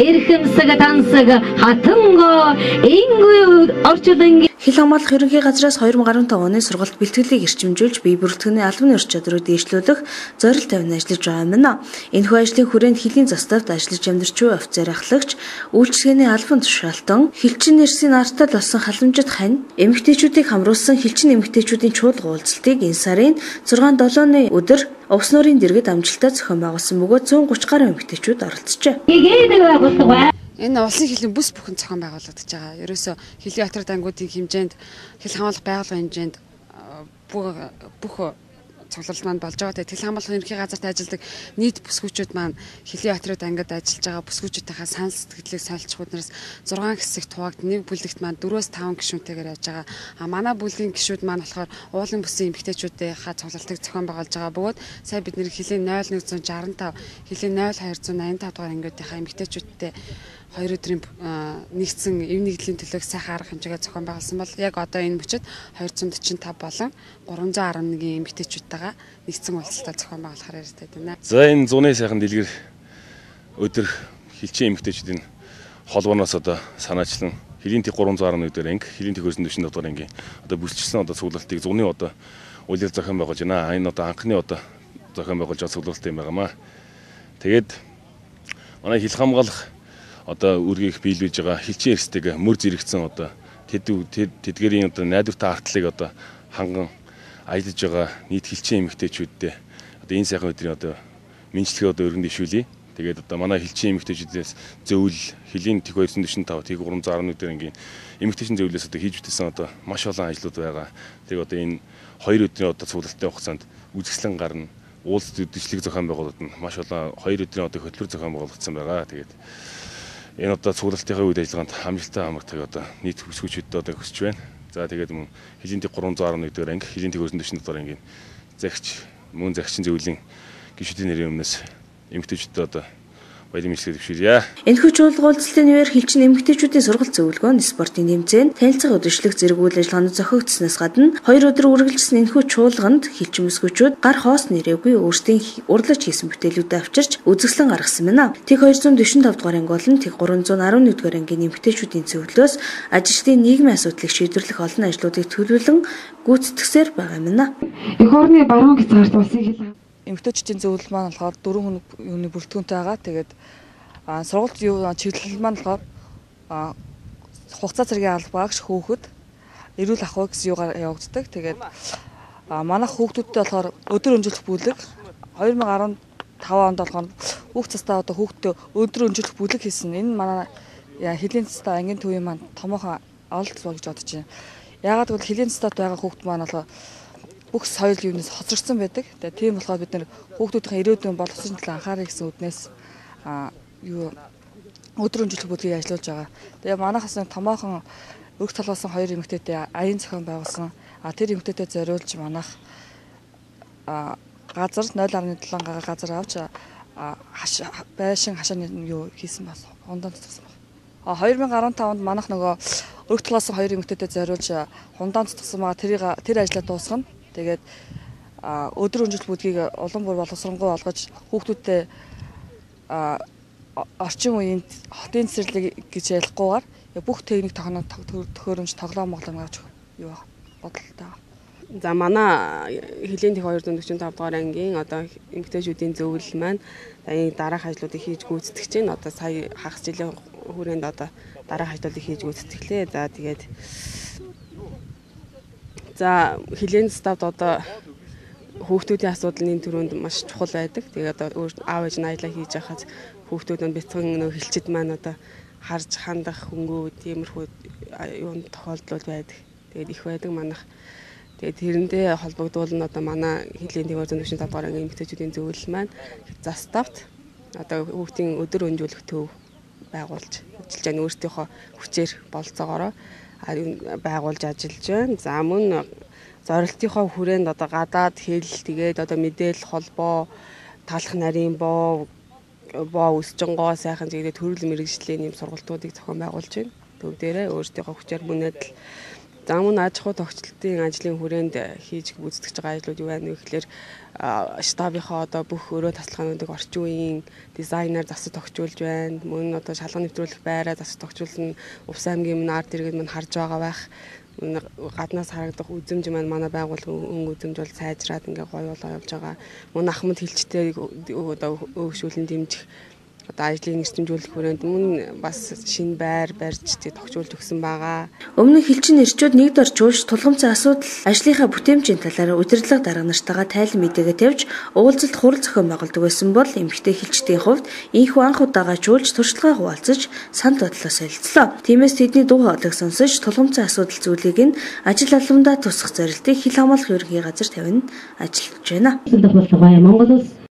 эрхэмсэг тансаг хатанго ингүй орчуулан Хил хамгаалах ерөнхий газраас 2015 оны сургалт бэлтгэлийг эрчимжүүлж бие бүртгэгний албаны ур чадрыг дээшлүүлэх зорилт тавина ажиллаж байгаа юм. Энэхүү ажлын хүрээнд хилийн заставд ажиллаж амьдарч буй офицер ахлагч, үйлчлэгээний албан тушаалтан, хилчин нэрсийн артал болсон халамжит хань, эмэгтэйчүүдийг хамруулсан хилчин эмэгтэйчүүдийн чуулга уулзалтыг энэ сарын 6-7-ны өдөр Увс нуурын дэргэд амжилттай зохион байгуулсан бөгөөд 130 гаруй эмэгтэйчүүд оролцжээ. Энэ улсын хилийн бүс бүхэн зохион байгуулагдаж байгаа. Ерөөсөө хилийн отрол ангуудын хэмжээнд, хил хамгаалах байгууллагын хэмжээнд бүх цуглал маань болж байгаа. Хил хамгаалах ерөнхий газарт ажилладаг нийт бүсгүүчүүд маань хилийн отрол ангид ажиллаж байгаа бүсгүүчүүдийнхээ санал сэтгэлийг солилцох үднээс 6 хэсэг туваагд нэг бүлэгт маань 4-5 гишүүнтэйгээр яаж байгаа. Манай бүлгийн гишүүд маань болохоор уулын бүсийн эмэгтэйчүүдийнхээ цуглалтыг зохион байгуулж байгаа бөгөөд сая бид нэр хилийн 0165, хилийн 0285 дугаар ангиудынхаа эмэгтэйчүүдтэй 2 өдрийн нэгдсэн эв нэгдлийн төлөөг сайхан арга хэмжээгээ зохион байгуулсан бол яг одоо энэ мөчид 245 болон 311 эмэгтэйчүүдтэйгээ нэгдсэн уулзалтаа зохион байгуулахаар ярьдаг байна. За энэ 100-ны сайхан дэлгэр өдөр хилчин эмэгтэйчүүдийн холбооноос одоо санаачлан хилийн тэг 311 дээр анги, хилийн тэг 245 дугаар ангийн одоо бүсчилсэн одоо цуглалтыг 100-ны одоо улирал зохион байгуулж байна. Энэ одоо анхны одоо зохион байгуулж байгаа цуглалт юм байнамаа. Тэгээд манай хил хамгаалах одоо үргийг биелүүлж байгаа хилчин эрсдэг мөр зэрэгцэн одоо тэдгэрийн одоо найдвартай артлыг одоо ханган ажиллаж байгаа нийт хилчин эмэгтэйчүүдтэй одоо энэ сайхан өдрийн одоо мэдлэгээ одоо өргөн дэвшүүлье. Тэгээд одоо манай хилчин эмэгтэйчүүдээс зөвлөл хилийн тэг 245 тэг 311 дээр ангийн эмэгтэйчэн зөвлөлөөс одоо хийж бүтээсэн одоо маш олон ажлууд байгаа. Тэг одоо энэ 2 өдрийн одоо цуглалтын хугацаанд үзэсгэлэн гарна. Уулс дэвшлиг зохион байгуулалт маш олон 2 өдрийн одоо хөтөлбөр зохион байгуулагдсан байгаа. Тэгээд энэ одоо цуглалтын үед ажиллагаанд амжилттай хамрахыг одоо нийт бүсгүүчүүдтэй одоо хүсэж байна. За тэгээд мөн хилийн тэг 311 дээр анги, хилийн тэг 245 дугаар ангийн загч, мөн загчин зөвлөлийн гишүүдийн нэрийн өмнөөс эмэгтэйчүүдтэй одоо баярын мэдлэгээ дэвшүүлье. Энэхүү чуулга уулзалтын үеэр хилчин эмэгтэйчүүдийн сургалт зөвлөгөө, спортын тэмцээн, танилцах өдөржлөх зэрэг үйл ажиллагааны зохиогдсноос гадна 2 өдөр үргэлжилсэн энэхүү чуулганд хилчин бүсгүүчүүд гар хоос нэрээгүй өөрсдийн урлаж хийсэн бүтээлүүдэд авчирч үзэсгэлэн гаргасан байна. Тэг 245 дугаар анги болон тэг 311 дугаар ангийн эмэгтэйчүүдийн зөвлөлөөс ажилчдын нийгмийн асуудлыг шийдвэрлэх олон ажлуудыг төлөвлөн гүйцэтгсээр байгаа юм байна. Эх орны баруун хязгаарт улсын хил эмэгтэйчүүдийн зөвлөл маань болохоор 4 хүн юуны бүрэлдэхүүнтэй байгаа. Тэгээд сургалт чиглэл маань болохоор хугацаа цэргийн албаагч хүүхэд эрүүл ахуй гэсэн юугаар явагддаг. Тэгээд манайх хүүхдүүдтэй болохоор өдөр өнжүүлэх бүлэг 2015 онд болохоор хүүхд цастаа одоо хүүхдтэй өдөр өнжүүлэх бүлэг хийсэн. Энэ манай хилийн цастаа ангийн төвийн маань томоохон ололт болж бодож байна. Яагаад гэвэл хилийн цастад байгаа хүүхд маань болохоор бүх соёл юунаас хоцрогдсон байдаг. Тэгээ тийм болохоор бид нэр хүүхдүүдийн ирээдүйн боловсролын төлөө анхаарах гэсэн үднээс өдөр өнжүүлэх бүлгийг ажиллуулж байгаа. Тэгээ манайхаас томоохон өрх талбасан 2 эмэгтэйтэй аян зохион байгуулсан. Тэр эмэгтэйтэй зориулж манайх газар 0.7 га газар авч байшин хашааны юу хийсэн бас хундаан цуцсан байна. 2015 онд манайх нөгөө өрх талбасан 2 эмэгтэйтэй зориулж хундаан цуцсан маа тэр ажлаа дуусгана. Тэгээд өдөр өнжүүлэх бүлгийг улам бүр боловсронгуй болгож хүүхдүүдтэй орчин үеийн хотын цэцэрлэг гэж ялахгүйгээр бүх техник төхөөрөмж тоглоом авч юу бодолтой. За манай хилийн тэг 245 дугаар ангийн одоо эмэгтэйчүүдийн зөвлөл маань энэ дараах ажлуудыг хийж гүйцэтгэж байна. Одоо сая хагас жилийн хүрээнд одоо дараах ажлуудыг хийж гүйцэтгэлээ. За хилийн ставд одоо хүүхдүүдийн асуудал энэ төрөнд маш чухал байдаг. Тэгээд одоо аав ээж нь аялал хийж байхад хүүхдүүд нь бяцхан нөө хилчид маань одоо харж хандах хөнгөө тиймэрхүү юунд тохиолдол байдаг. Тэгээд их байдаг манайх. Тэгээд тэрэндээ холбогдвол нь одоо манай хилийн тэг 245 дугаар ангийн эмэгтэйчүүдийн зөвлөл маань заставт одоо хүүхдийн өдөр өнжүүлэх төв байгуулж ажиллаж байгаа өөрсдийнхөө хүчээр болцоогоороо байгуулж ажиллаж байна. За мөн зорилтынхоо хүрээнд одоо гадаад хэл тэгээд одоо мэдээлэл холбоо, талах нарийн боо өсчөнгөө сайхан зэгдээ төрөл мэрэгжлийн юм сургалтуудыг зохион байгуулж байна. Төв дээрээ өөрсдийнхөө хүчээр мөнөдөл За мөн аж ахуй тогтцолтын ажлын хүрээнд хийж гүйцэтгэж байгаа ажлууд юу байна вэ гэхээр штабынхаа одоо бүх өрөө тасалгаануудыг орчин үеийн дизайнер засаж тогтжуулж байна. Мөн одоо шалган нэвтрүүлэх байраа засаж тогтжуулна. Увс аймгийн мөн арт иргэд мань харж байгаа байх. Гаднаас харагдах үзэмж маань манай байгууллагын үзэмж бол сайжраад ингээ гоё болоо явж байгаа. Мөн ахмад хилчтэй одоо өөгшүүлэн дэмжих одоо ажлыг нэрчимжүүлэх хүрээнд мөн бас шинэ байр барьж тогтжуулж өгсөн байгаа. Өмнө нь хилчин эрчүүд нэгд орж уурж тулгамцсан асуудал ажлынхаа бүтээмжийн талаар удирдлага дарга нартайгаа тайлан мэдээгээ тавьж уулзалт хурал зохион байгуулдаг байсан бол эмэгтэй хилчдийн хувьд ийхүү анх удаага жуулж туршлагаа хуваалцаж санал бодлоо солилцлоо. Тиймээс тэдний дуу хоолойг сонсож тулгамцсан асуудал зүйлийг нь ажил албандаа тусах зорилтыг хил хамгаалах ерөнхий газар тавина ажиллаж байна. Монголос